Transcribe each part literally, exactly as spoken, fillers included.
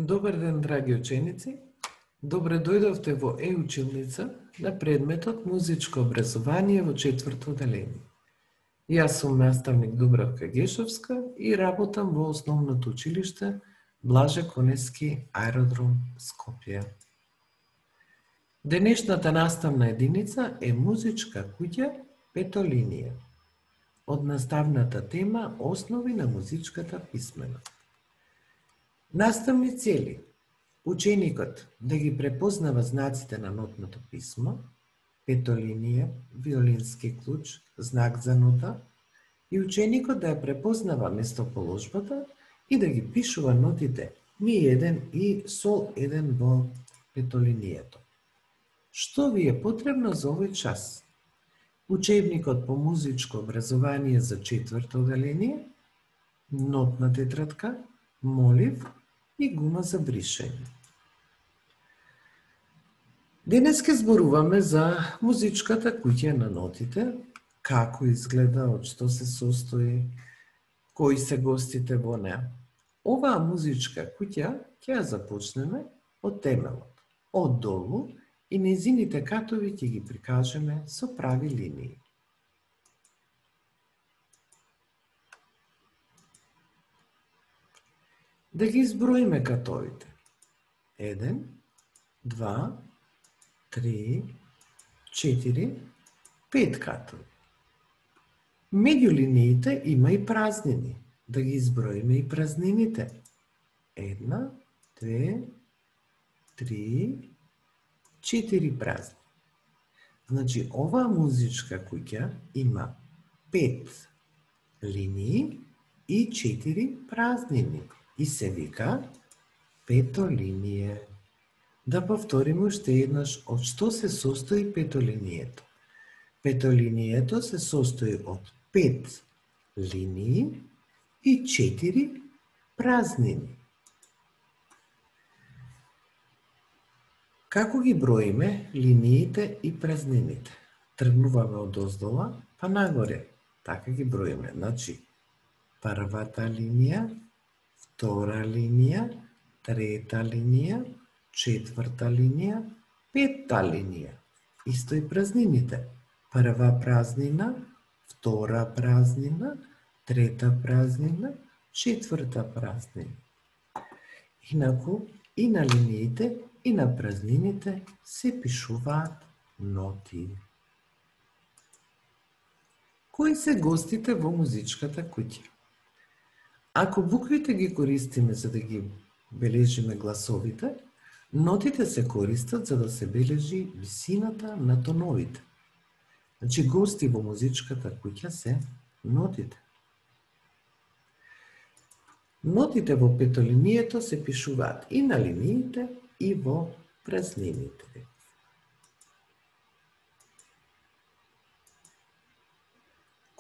Добар ден, драги ученици! Добре дојдовте во е-училница на предметот Музичко образование во четврто оделение. Јас сум наставник Дубравка Гешовска и работам во основното училиште Блаже Конески аеродром Скопје. Денешната наставна единица е Музичка куќа пето линија, од наставната тема Основи на музичката писменост. Наставни цели: ученикот да ги препознава знаците на нотното писмо, пето линија, виолински клуч, знак за нота, и ученикот да ја препознава местоположбата и да ги пишува нотите ми еден и сол еден во петолинијето. Што ви е потребно за овој час? Учебникот по музичко образование за четврто оделение, нотна тетрадка, молив и гума за бришење. Денес ке зборуваме за музичката куќа на нотите, како изгледа, од што се состои, кои се гостите во неа. Оваа музичка куќа ќе ја започнеме од темелот, од долу, и нејзините катови ќе ги прикажеме со прави линии. Да ги изброиме катовите. Еден, два, три, четири, пет катови. Меѓу линиите има и празнини. Да ги изброиме и празнините. Една, две, три, четири празни. Значи, оваа музичка куќа има пет линии и четири празнини. И се вика петолиние. Да повториме уште еднаш од што се состои петолинието. Петолинието се состои од пет линии и четири празнини. Како ги броиме линиите и празнините? Тргнуваме од оздола па нагоре. Така ги броиме. Значи, првата линија, втора линија, трета линија, четврта линија, петта линија. Исто и празнините. Прва празнина, втора празнина, трета празнина, четврта празнина. Инаку, и на линиите, и на празнините се пишуваат ноти. Кои се гостите во музичката куќа? Ако буквите ги користиме за да ги бележиме гласовите, нотите се користат за да се бележи висината на тоновите. Значи, гости во музичката куќа се нотите. Нотите во петолинието се пишуваат и на линиите, и во празнините.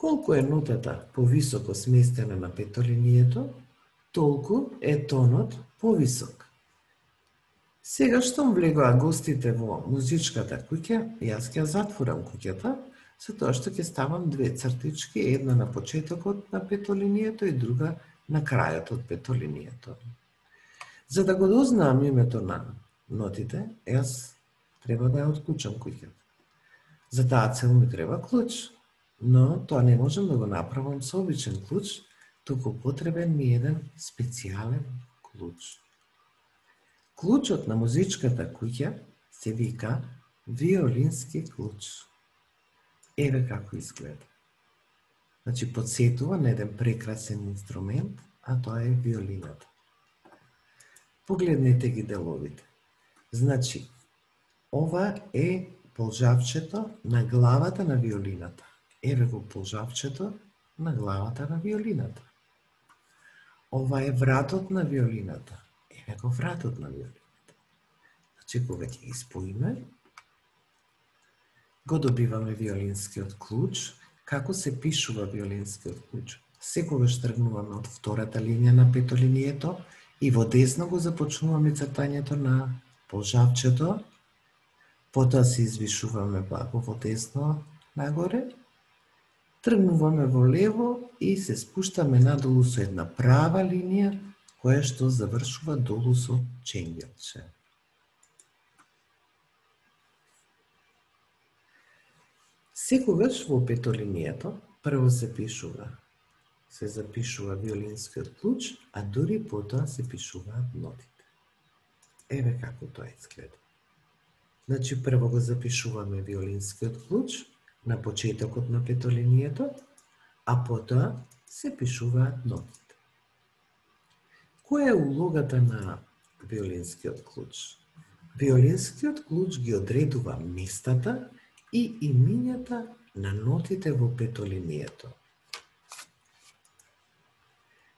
Колку е нотата повисоко сместена на петолинието, толку е тонот повисок. Сега штом влегоа гостите во музичката куќа, јас ќе затворам куќата, со тоа што ќе ставам две цртички, една на почетокот на петолинието и друга на крајот од петолинието. За да го дознаам името на нотите, јас треба да ја отклучам куќата. За таа цел ми треба клуч, но тоа не можам да го направам со обичен клуч, туку потребен ми еден специјален клуч. Клучот на музичката куќа се вика виолински клуч. Еве како изгледа. Значи, подсетува на еден прекрасен инструмент, а тоа е виолината. Погледнете ги деловите. Значи, ова е полжавчето на главата на виолината. Еве го полжавчето на главата на виолината. Ова е вратот на виолината. Еве го вратот на виолината. Значи, кога ќе ги споиме, го добиваме виолинскиот клуч. Како се пишува виолинскиот клуч? Секогаш тргнуваме од втората линија на петолинието и во десно го започнуваме цртањето на полжавчето, потоа се извишуваме благо во десно нагоре, тргнуваме во лево и се спуштаме надолу со една права линија која што завршува долу со ченгелче. Секогаш во петолинијето прво се пишува, се запишува виолинскиот клуч, а дури потоа се пишуваат нотите. Еве како тоа изгледа. Значи, прво го запишуваме виолинскиот клуч на почетокот на петолинијето, а потоа се пишуваат нотите. Која е улогата на виолинскиот клуч? Виолинскиот клуч ги одредува местата и имињата на нотите во петолинијето.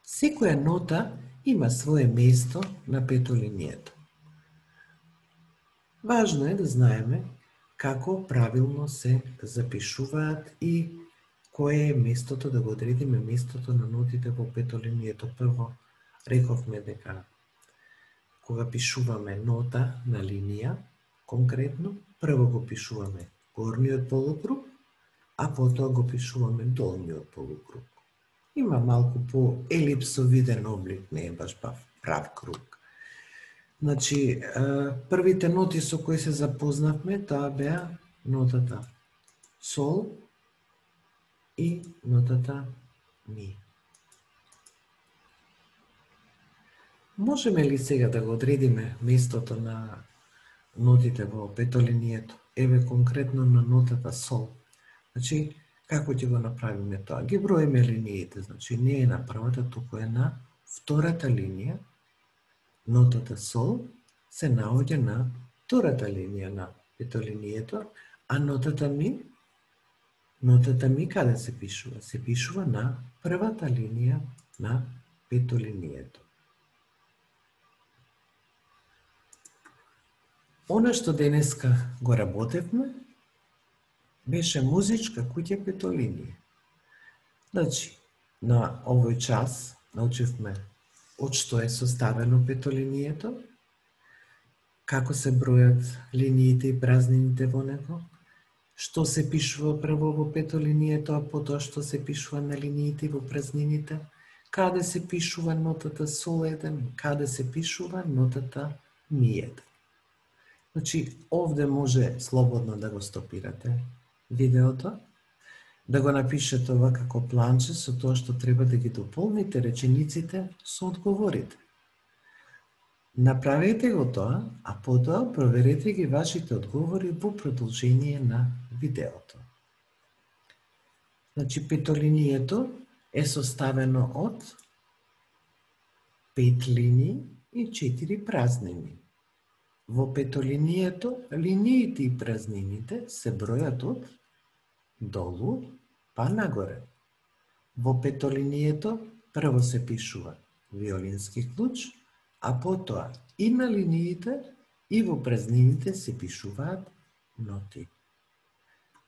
Секоја нота има свое место на петолинијето. Важно е да знаеме како правилно се запишуваат и кое е местото, да го одредиме местото на нотите во петолинијето. Прво, рековме дека кога пишуваме нота на линија, конкретно, прво го пишуваме горниот полукруг, а потоа го пишуваме долниот полукруг. Има малку по елипсовиден облик, не е баш прав круг. Значи, првите ноти со кои се запознавме, тоа беа нотата сол и нотата ми. Можеме ли сега да го одредиме местото на нотите во петолинијето? Еве конкретно на нотата сол. Значи, како ќе го направиме тоа? Ги броиме линиите, значи не е на првата, туку е на втората линија. Нотата сол се наоѓа на втората линија на петолинијето, а нотата ми, нотата ми каде се пишува? Се пишува на првата линија на петолинијето. Она што денеска го работевме беше музичка куќа петолинија. Значи, на овој час научивме од што е составено петолинијето, како се бројат линиите и празнините во него, што се пишува прво во петолинијето, а потоа што се пишува на линиите и во празнините, каде се пишува нотата сол еден, каде се пишува нотата ми еден. Значи, овде може слободно да го стопирате видеото, да го напишете ова како планче со тоа што треба да ги дополните речениците со одговорите. Направете го тоа, а потоа проверете ги вашите одговори во продолжение на видеото. Значи, петолинијето е составено од пет линии и четири празнини. Во петолинијето, линиите и празнините се бројат од долу па нагоре. Во петолинијето прво се пишува виолински клуч, а потоа и на линиите и во празнините се пишуваат ноти.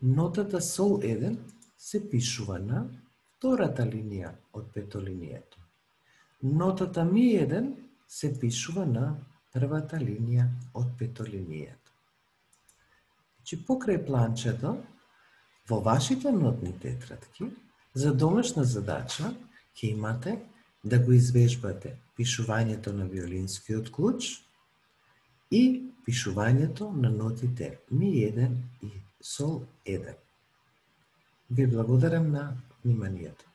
Нотата сол еден се пишува на втората линија од петолинијето. Нотата ми еден се пишува на првата линија од петолинијето. Значи, покрај планчето, во вашите нотни тетрадки, за домашна задача, ќе имате да го извежбате пишувањето на виолинскиот клуч и пишувањето на нотите ми еден и сол еден. Ви благодарам на вниманието.